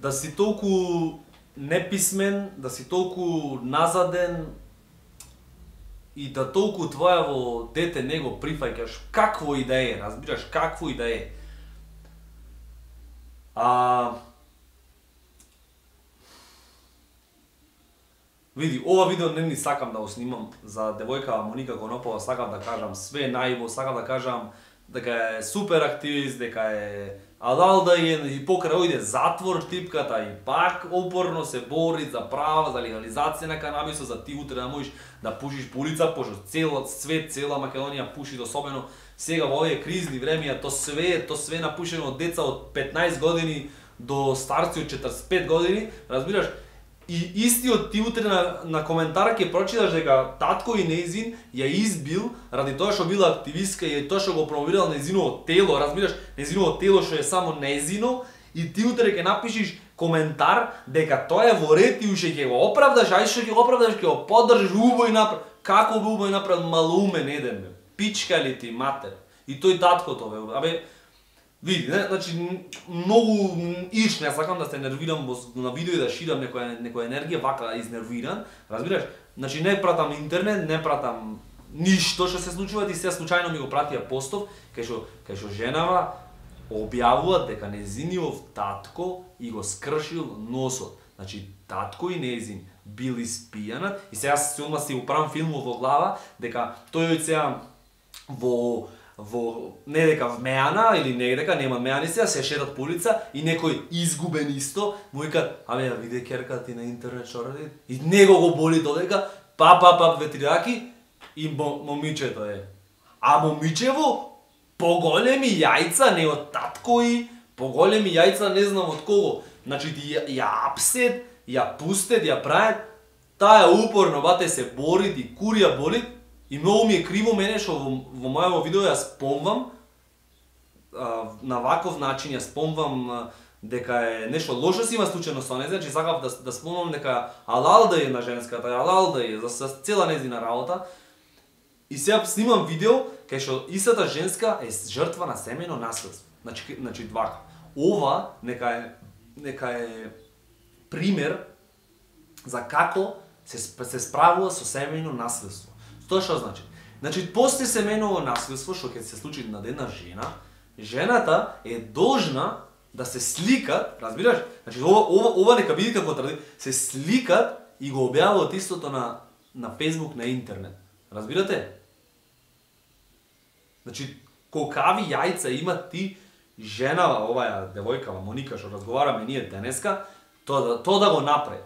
да си толку неписмен, да си толку назаден и да толку твоево дете не го прифаќаш какво и да е, разбираш, какво и да е. Види, ова видео не ни сакам да го снимам за девојка Моника Конопова, сакам да кажам све најво, сакам да кажам дека е супер активист, дека е алалда и покрај ојде затвор типката и пак упорно се бори за права, за легализација на канабисот, за ти утре да можеш да пушиш по улица, пошто целиот свет, цела Македонија пуши, особено сега во овие кризни времиња, то све напушено од деца од 15 години до старци од 45 години, разбираш? И истиот ти утре на коментар ќе прочиташ дека татко и нејзин ја избил ради тоа што била активистка и тоа што го промовирал нејзиново тело, разбираш, нејзиново тело што е само нејзино, и ти утре ќе напишеш коментар дека тоа е во ред и уште ќе го оправдаш, ај што ќе го оправдаш, ќе го поддржиш, убај направ. Како би убај направил малумен еден бе? Пичка ли ти матер? И тој таткото бе, абе види, значи многу не сакам да се нервирам на видео и да ширам некоја енергија вака изнервиран, разбираш? Значи не пратам интернет, не пратам ништо што се случува, и се случајно ми го пратија постов кај што женава објавува дека нејзиниот татко и го скршил носот. Значи татко и нејзин бил испијанат и сега се си управам филмот во глава дека тој сега не дека вмеана или не дека нема меани се шетат по улица и некој изгубен исто му вика, абе ја виде керка ти на интернет што ради, и него го боли додека пап ветрираки и момичето е. А момичево поголеми јајца не од татко и поголеми јајца не знам од кого. Значи ти ја апсет, ја пустет, ја правет, таа упорно бате се бори, ти курија боли. И многу ми е криво мене што во мојаво видео ја спомвам на ваков начин, ја спомвам дека е нешто лошо си има случено со неја, значи сакав да спомнам дека алалда е на женската, алалда е за цела нејзина работа. И сега снимам видео кај што истата женска е жртва на семејно наследство. Значи двака. Ова нека е пример за како се справува со семејно наследство. Тоа што значи? Значи, после семејново наследство, што ќе се случи над една жена, жената е должна да се сликат, разбираш? Значи, ова нека биде како традиција, се сликат и го објавуваат истото на Facebook, на интернет. Разбирате? Значи, колкави јајца има ти женава, оваа девојкава Моника што разговараме ние денеска, тоа да го направи.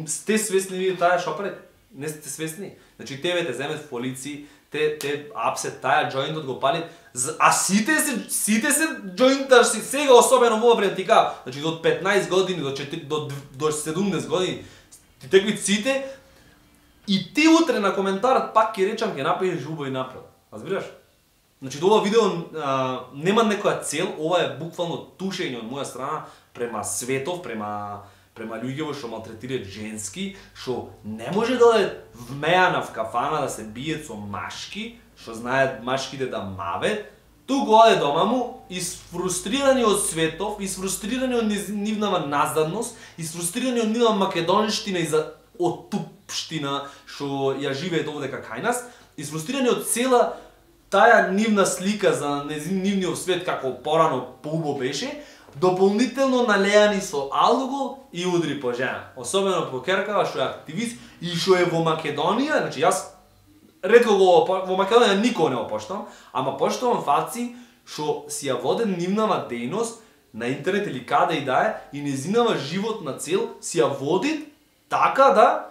Сте свесни вие таа што прави? Не сте свесни? Значи тебе те земет в полиција, те апсет таа џоинтот го пали, а сите се џоинтар си сега особено во време ти кажа, значи до 15 години до 17 години ти теквит сите и ти утре на коментарот пак ќе речам ќе направиш убаво и направи. Разбираш? Значи ова видео нема некоја цел, ова е буквално тушење од моја страна према светов, према луѓе што малтретираат женски, што не може да е вмеана в кафана да се биет со машки, што знаат машките да мавет, туку оде дома му исфрустрирани од светов, исфрустрирани од нивнава назадност, исфрустрирани од нивна македонштина и за отупштина што ја живеат овде кај нас, исфрустрирани од цела таа нивна слика за нивниот свет како порано поубо беше, дополнително налеани со алкохол и удри по жена. Особено по керкава што е активист и што е во Македонија, значи јас ретко во Македонија никога не го поштам, ама поштувам фаци што си ја воден нивнава дејност на интернет или каде и да е и нејзинава животна цел си ја води така да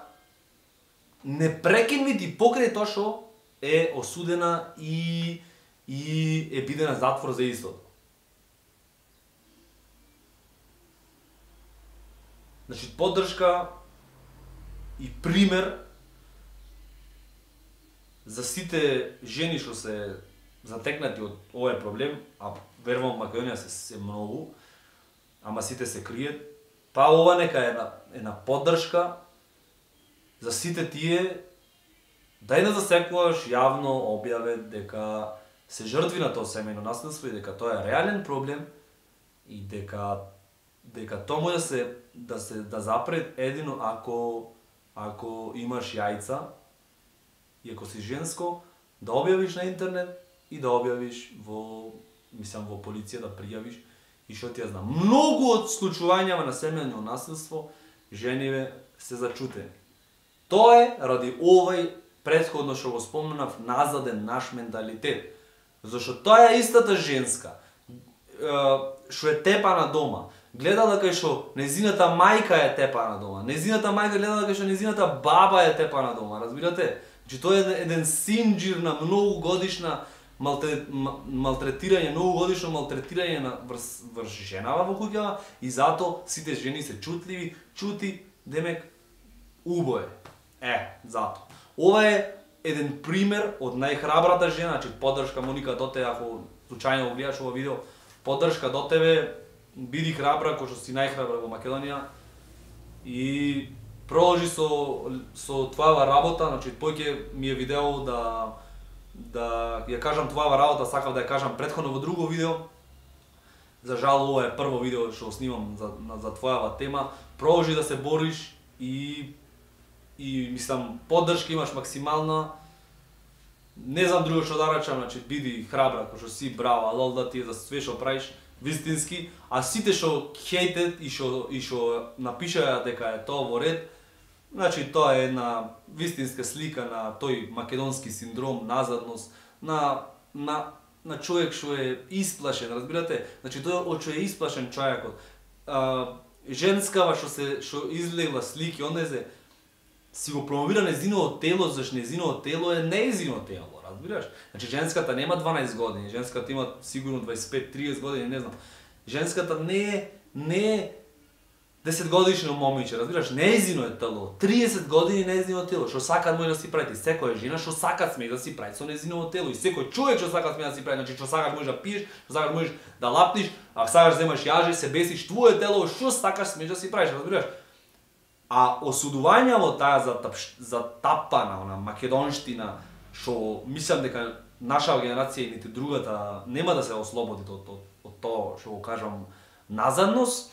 не прекинвит и покрај тоа што е осудена и е бидена затвор за истото. Значи, поддршка и пример за сите жени што се затекнати од овој проблем, а верувам Македонија се многу, ама сите се криет, па ова нека е една поддршка за сите тие дај да засекогаш јавно објаве дека се жртви на тоа семејно наследство и дека тоа е реален проблем и дека дека тоа може да запре едино ако имаш јајца и ако си женско, да објавиш на интернет и да објавиш во полиција да пријавиш и што ти ја знам. Многу од случувањава на семејно насилство жениве се зачутени. Тоа е ради овај претходно што го спомнав назаден наш менталитет. Зашто тоа е истата женска што е тепана дома, гледала кај што незината мајка е тепана дома, незината мајка гледала кај што незината баба е тепана дома, разбирате? Значи тоа е еден синџир на многогодишна малтретирање, многогодишно малтретирање врз женава во куќава и затоа сите жени се чутливи, чути, демек убое. Затоа. Ова е еден пример од најхрабрата жена, значи поддршка Моника до тебе, ако случајно го гледаш ова видео, поддршка до тебе, биди храбра, кој што си најхрабра во Македонија и продолжи со твојава работа, значи поќе ми е видео да ја кажам твојава работа, сакав да ја кажам претходно во друго видео. За жал ова е прво видео што снимам за твојава тема. Продолжи да се бориш и мислам поддршка имаш максимална. Не знам друго што да речам, значи биди храбра, кој што си, браво, алол да ти е за све што правиш, вистински, а сите што хейтет и што напишаја дека е тоа во ред, значи тоа е една вистинска слика на тој македонски синдром, назадност, на човек што е исплашен, разбирате? Значи тоа од што е исплашен човекот. Женскава што излегла слики, онезе си го промовира незиното тело, зашто незиното тело е неизино тело, разбираш? Значи женската нема 12 години, женската има сигурно 25-30 години, не знам. Женската не е 10 годишно момиче, разбираш? Неизино е тело. 30 години неизино тело, што сакат може да си прави. Секоја жена што сакат сме да си прави со неизиното тело и секој човек што сакат сме да си прави, значи што сакаш можеш да пиеш, што сакаш можеш да лапниш, а сакаш земаш јаже, се бесиш, твое тело што сакаш сме да си правиш, разбираш? А осудување во таа затапана, она македонштина, што мислам дека нашава генерација и нити другата нема да се ослободи од тоа што го кажам назадност.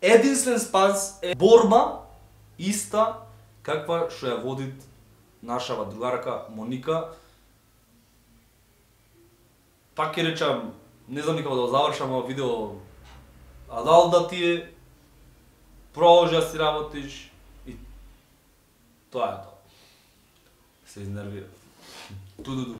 Единствен спас е борба иста каква што ја води нашава другарка Моника. Пак ќе речам, не знам никако да завршам ова видео, а дал да ти е, продолжи да си работиш и тоа е тоа. Се изнервира. Туду.